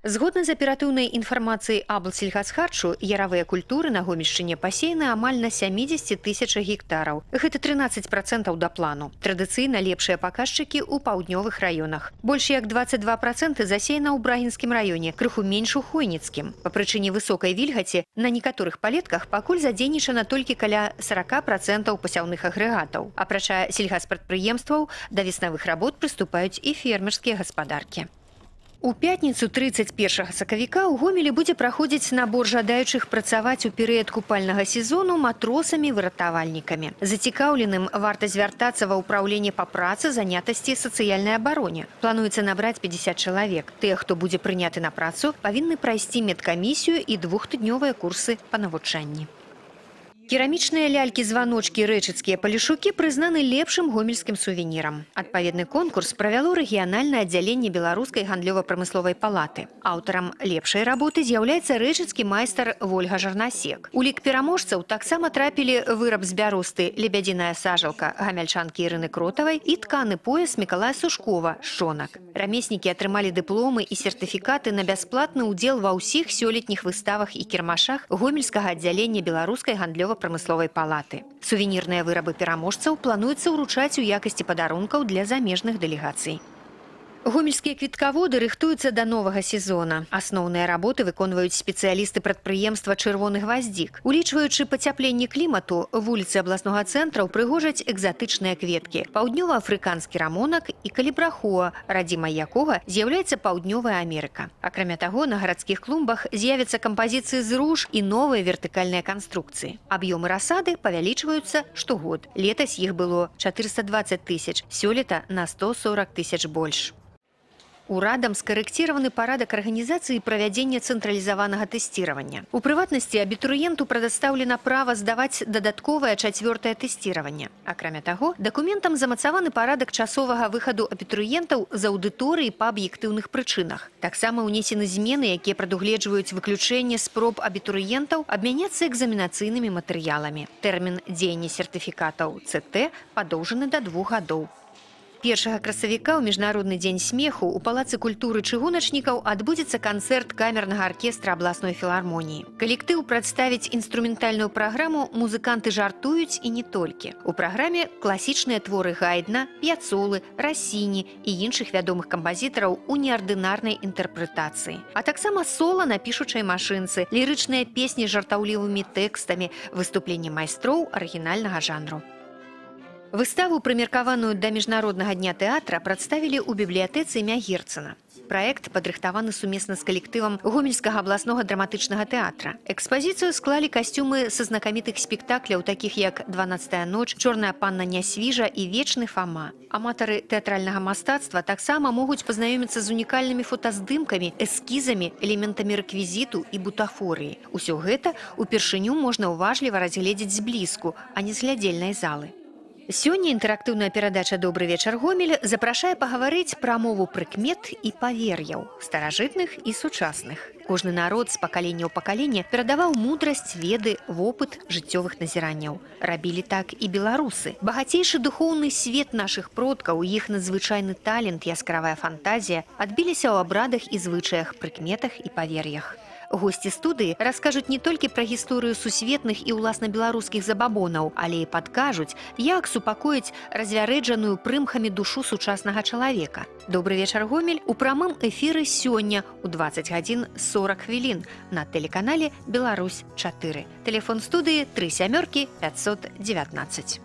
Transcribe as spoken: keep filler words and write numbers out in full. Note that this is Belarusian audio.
Згодна з аператыўнай інфармацыяй аблсельгасхарчу, яравыя культуры на Гомельшчыне пасеяны амаль на сямідзесяці тысячах гектараў. Гэта трынаццаць працэнтаў да плану. Традыцыйна лепшыя паказчыкі ў паўднёвых раёнах. Больш як дваццаць два працэнты засеяна ў Брагінскім раёне, крыху менш у Хойніцкім. Па прычыне высокай вільгаці на некаторых палетках пакуль задзейнічана толькі каля сорок працэнтаў пасяўных агрэгатаў. Апрача сельгаспрадпрыемстваў, да веснавых работ прыступаюць і фермерскія гаспадаркі. У пятніцу трыццаць першага сакавіка ў Гомелі будзе праходзіць набор жадаючых працаваць у перыяд купальнага сезону матросамі-выратавальнікамі. Зацікаўленым варта звяртацца ва ўпраўленне па працы, занятасці і сацыяльнай абароне. Плануецца набраць пятьдесят чалавек. Тыя, хто будзе прыняты на працу, павінны прайсці медкамісію і двухтыднёвыя курсы па навучанні. Керамічныя лялькі-званочкі рэчыцкія палішукі прызнаны лепшым гомельскім сувенірам. Адпаведны конкурс правяло рэгіянальнае аддзяленне Беларускай гандлёва-прамысловай палаты. Аўтарам лепшай работы з'яўляецца рэчыцкі майстар Вольга Жарнасек. У лік пераможцаў таксама трапілі выраб з бяросты «Лебядзіная сажалка» гамяльчанкі Ірыны Кротавай і тканы пояс Мікалая Сушкова «Шонак». Рамеснікі атрымалі дыпломы і сертыфікаты на бясплатны ўдзел ва ўсіх сёлетніх выставах і кірмашах гомельскага аддзялення Беларускай гандлёва прамысловай палаты. Сувенірныя вырабы пераможцаў плануецца ўручаць у якасці падарункаў для замежных дэлегацый. Гомельскія квіткаводы рыхтуюцца да новага сезона. Асноўныя работы выконваюць спецыялісты прадпрыемства «Чырвоны гваздзік». Улічваючы пацяпленне клімату, вуліцы абласнога цэнтра ўпрыгожаць экзатычныя кветкі. Паўднёва-афрыканскі рамонак і калібрахоа, радзімай якога з'яўляецца Паўднёвая Амерыка. Акрамя таго, на гарадскіх клумбах з'явяцца кампазіцыі з руж і новыя вертыкальныя канструкцыі. Аб'ёмы расады павялічваюцца штогод. Летась іх было чатырыста дваццаць тысяч, сёлета на сто сорок тысяч больш. Урадам скарэкціраваны парадак арганізацыі і правядзення цэнтралізаванага тэсціравання. У прыватнасці, абітурыенту прадастаўлена права здаваць дадатковае чацвёртае тэсціраванне. Акрамя таго, дакументам замацаваны парадак часовага выхаду абітурыентаў з аўдыторыі па аб'ектыўных прычынах. Таксама ўнесены змены, якія прадугледжваюць выключэнне спроб абітурыентаў абмяняцца экзаменацыйнымі матэрыяламі. Тэрмін дзеяння сертыфікатаў цэ тэ падоўжаны да двух гадоў. Першага красавіка ў міжнародны дзень смеху ў палацы культуры чыгуначнікаў адбудзецца канцэрт камернага аркестра абласной філармоніі. Калектыў прадставіць інструментальную праграму «Музыканты жартуюць» і не толькі. У праграме класічныя творы Гайдна, П'яцолы, Рассіні і іншых вядомых кампазітараў у неардынарнай інтэрпрэтацыі. А таксама сола на пішучай машынцы, лірычныя песні з жартаўлівымі тэкстамі, выступленне майстроў арыгінальнага жанру. Выставу, прымеркаваную да міжнароднага дня тэатра, прадставілі ў бібліятэцы імя Герцена. Праект падрыхтаваны сумесна з калектывам Гомельскага абласнога драматычнага тэатра. Экспазіцыю склалі касцюмы са знакамітых спектакляў, такіх як «дванаццатая ноч», «Чорная панна Нясвіжа» і «Вечны Фама». Аматары тэатральнага мастацтва таксама могуць пазнаёміцца з унікальнымі фотаздымкамі, эскізамі, элементамі рэквізіту і бутафорыі. Усё гэта упершыню можна ўважліва разгледзець зблізку, а не з глядзельнай залы. Сёння інтэрактыўная перадача «Добры вечар, Гомель» запрашае пагаварыць пра мову прыкмет і павер'яў, старажытных і сучасных. Кожны народ з пакалення ў пакаленне перадаваў мудрасць, веды, вопыт жыццёвых назіранняў. Рабілі так і беларусы. Багацейшы духоўны свет нашых продкаў, іх надзвычайны талент, яскравая фантазія адбіліся ў абрадах і звычаях, прыкметах і павер'ях. Госці студыі раскажуць не толькі пра гісторыю сусветных і ўласна беларускіх забабонаў, але і падкажуць, як супакоіць развярэджаную прымхамі душу сучаснага чалавека. Добры вечар, Гомель у прамым эфіры сёння ў дваццаць гадзін сорок хвілін на тэлеканале «Беларусь чатыры». Тэлефон студыі тры сямёркі пятьсот девятнадцать.